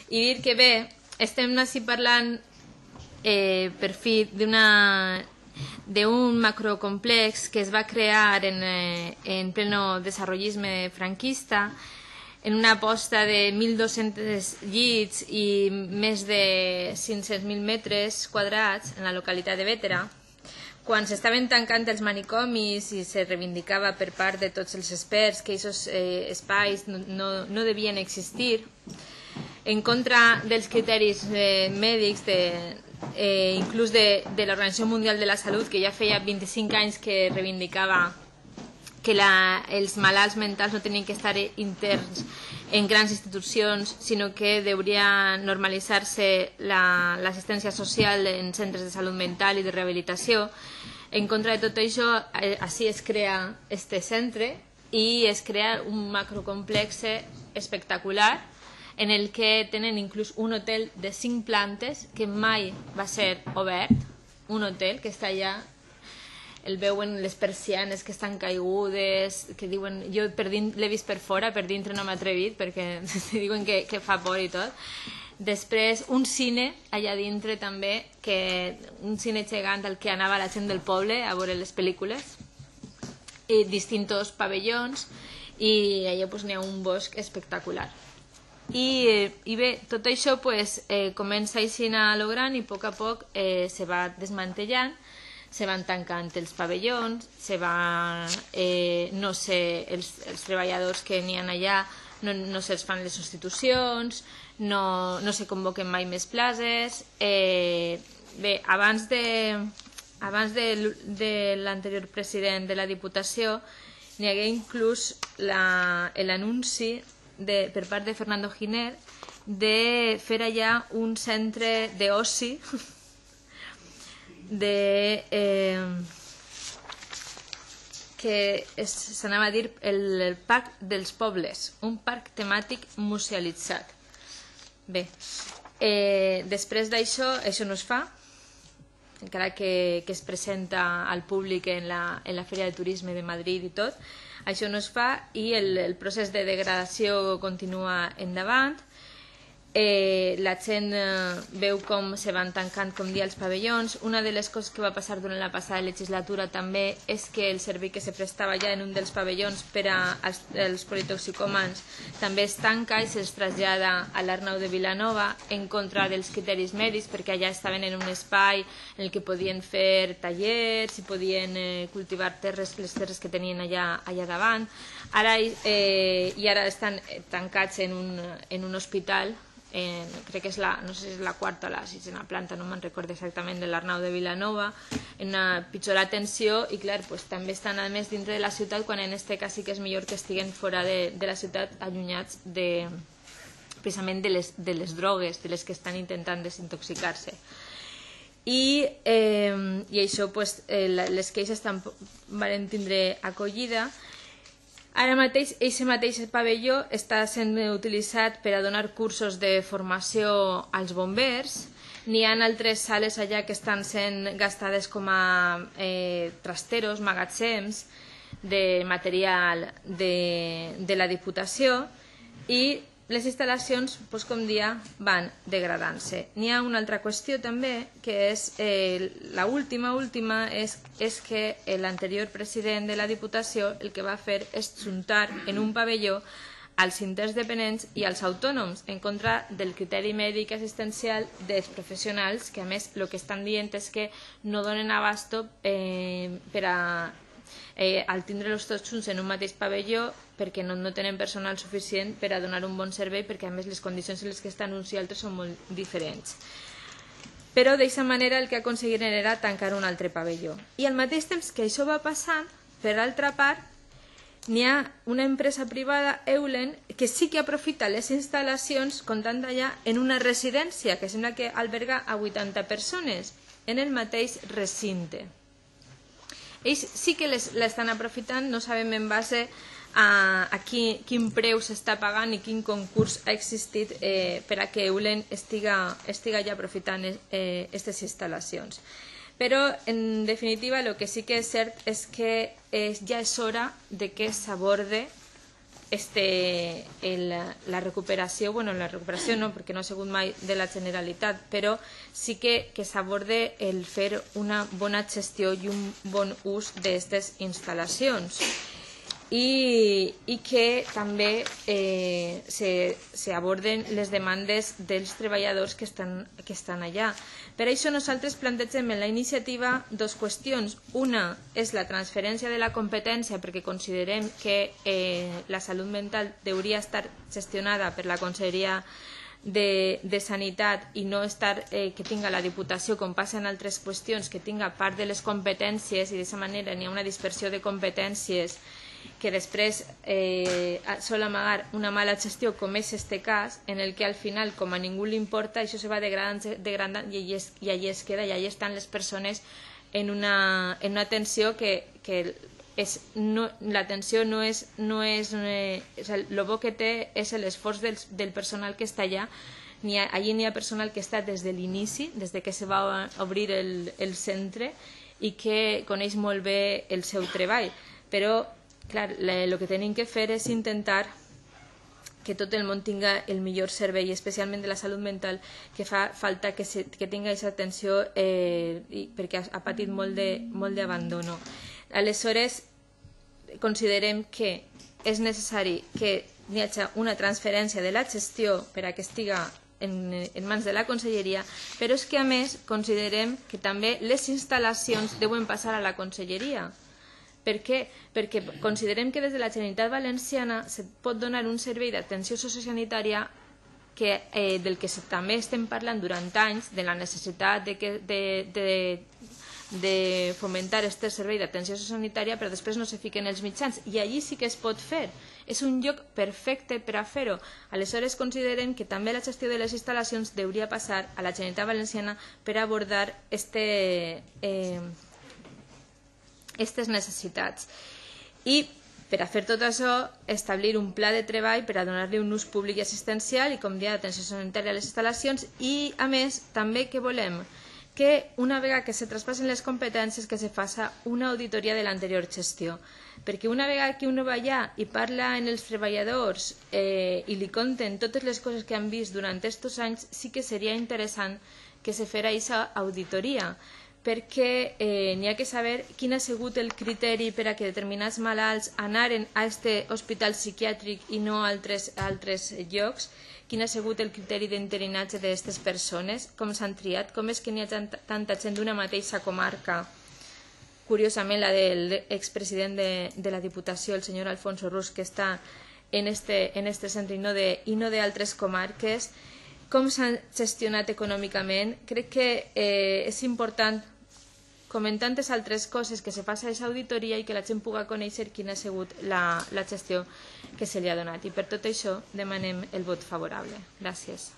I dir que bé, estem així parlant per fi d'un macrocomplex que es va crear en pleno desarrollisme franquista, en una aposta de 1.200 llits i més de 500.000 metres quadrats en la localitat de Bétera, quan s'estaven tancant els manicomis i se reivindicava per part de tots els experts que aquests espais no devien existir, en contra dels criteris mèdics, inclús de l'Organització Mundial de la Salut, que ja feia 25 anys que reivindicava que els malalts mentals no tenien que estar interns en grans institucions, sinó que hauria normalitzar-se l'assistència social en centres de salut mental i de rehabilitació. En contra de tot això, així es crea este centre i es crea un macrocomplex espectacular en el que tenen inclús un hotel de 5 plantes que mai va ser obert, un hotel que està allà, el veuen les persianes que estan caigudes, que diuen, jo l'he vist per fora, per dintre no m'he atrevit perquè diuen que fa por i tot. Després un cine allà dintre també, un cine gegant al que anava la gent del poble a veure les pel·lícules, i distintos pavellons, i allà n'hi ha un bosc espectacular. I bé, tot això comença així a lo gran i a poc se va desmantellant, se van tancant els pavellons, no sé, els treballadors que n'hi ha allà no se'ls fan les substitucions, no se convoquen mai més places. Bé, abans de l'anterior president de la Diputació n'hi hagué inclús l'anunci per part de Fernando Giner de fer allà un centre d'oci que s'anava a dir el Parc dels Pobles, un parc temàtic musealitzat. Bé, després d'això, això no es fa, encara que es presenta al públic en la Fèria de Turisme de Madrid i tot. Això no es fa i el procés de degradació continua endavant. La gent veu com se van tancant, com dia, els pavellons. Una de les coses que va passar durant la passada legislatura també és que el servei que se prestava ja en un dels pavellons per als politoxicòmans també es tanca i se'ls trasllada a l'Arnau de Vilanova en contra dels criteris mèdics, perquè allà estaven en un espai en el que podien fer tallers i podien cultivar les terres que tenien allà davant. Ara estan tancats en un hospital, crec que no sé si és la quarta o la sisena planta, no me'n recordo exactament, de l'Arnau de Vilanova, en una pitjor atenció, i clar, també estan a més dintre de la ciutat, quan en aquest cas sí que és millor que estiguen fora de la ciutat, allunyats precisament de les drogues, de les que estan intentant desintoxicar-se. I això, les queixes van tindre acollida. Ara mateix, aquest mateix pavelló està sent utilitzat per a donar cursos de formació als bombers. N'hi ha altres sales allà que estan sent gastades com a trasteros, magatzems de material de la Diputació, i les instal·lacions, com dia, van degradant-se. N'hi ha una altra qüestió també, que és l'última, és que l'anterior president de la Diputació el que va fer és juntar en un pavelló als interns dependents i als autònoms, en contra del criteri mèdic assistencial dels professionals, que a més el que estan dient és que no donen abasto per a al tindre-los tots junts en un mateix pavelló, perquè no tenen personal suficient per a donar un bon servei, perquè a més les condicions en les que estan uns i altres són molt diferents. Però d'aquesta manera el que aconseguiren era tancar un altre pavelló. I al mateix temps que això va passant, per altra part, n'hi ha una empresa privada, Eulen, que sí que aprofita les instal·lacions, comptant allà, en una residència que sembla que alberga a 80 persones en el mateix recinte. Ells sí que l'estan aprofitant, no sabem en base a quin preu s'està pagant i quin concurs ha existit per a que Eulen estiga ja aprofitant aquestes instal·lacions. Però, en definitiva, el que sí que és cert és que ja és hora de que s'aborde la recuperació, bueno, la recuperació no, perquè no ha sigut mai de la Generalitat, però sí que s'aborde el fer una bona gestió i un bon ús d'aquestes instal·lacions. I que també s'aborden les demandes dels treballadors que estan allà. Per això nosaltres plantegem en la iniciativa dues qüestions. Una és la transferència de la competència, perquè considerem que la salut mental hauria estar gestionada per la Conselleria de Sanitat i no estar que tinga la Diputació, com passa en altres qüestions, que tinga part de les competències i d'aquesta manera n'hi ha una dispersió de competències que després sol amagar una mala gestió, com és este cas, en el que al final, com a ningú li importa, això se va degradant i allí es queda, i allí estan les persones en una tensió que l'atenció no és el bo que té és l'esforç del personal que està allà. Allí n'hi ha personal que està des de l'inici, des que se va obrir el centre, i que coneix molt bé el seu treball, però clar, el que tenim que fer és intentar que tot el món tinga el millor servei, especialment de la salut mental, que fa falta que tingui aquesta atenció perquè ha patit molt d'abandono. Aleshores, considerem que és necessari que hi hagi una transferència de la gestió per a que estiga en mans de la Conselleria, però és que a més considerem que també les instal·lacions deuen passar a la Conselleria. Per què? Perquè considerem que des de la Generalitat Valenciana se pot donar un servei d'atenció sociosanitària del que també estem parlant durant anys, de la necessitat de fomentar aquest servei d'atenció sociosanitària, però després no se fiquen els mitjans, i allí sí que es pot fer. És un lloc perfecte per a fer-ho. Aleshores considerem que també la gestió de les instal·lacions hauria passar a la Generalitat Valenciana per abordar aquestes necessitats. I per a fer tot això, establir un pla de treball per a donar-li un ús públic i assistencial i, com deia, atenció sanitària a les instal·lacions, i a més també que volem que una vegada que se traspassen les competències que se faci una auditoria de l'anterior gestió, perquè una vegada que uno va allà i parla amb els treballadors i li conten totes les coses que han vist durant aquests anys, sí que seria interessant que se fera aquesta auditoria, perquè n'hi ha que saber quin ha sigut el criteri per a que determinats malalts anaren a aquest hospital psiquiàtric i no a altres llocs, quin ha sigut el criteri d'interinatge d'aquestes persones, com s'han triat, com és que n'hi ha tanta gent d'una mateixa comarca, curiosament la de l'expresident de la Diputació, el senyor Alfonso Rus, que està en este centre i no d'altres comarques, com s'han gestionat econòmicament. Crec que és important, com en tantes altres coses, que se faci aquesta auditoria i que la gent pugui conèixer quina ha sigut la gestió que se li ha donat. I per tot això demanem el vot favorable. Gràcies.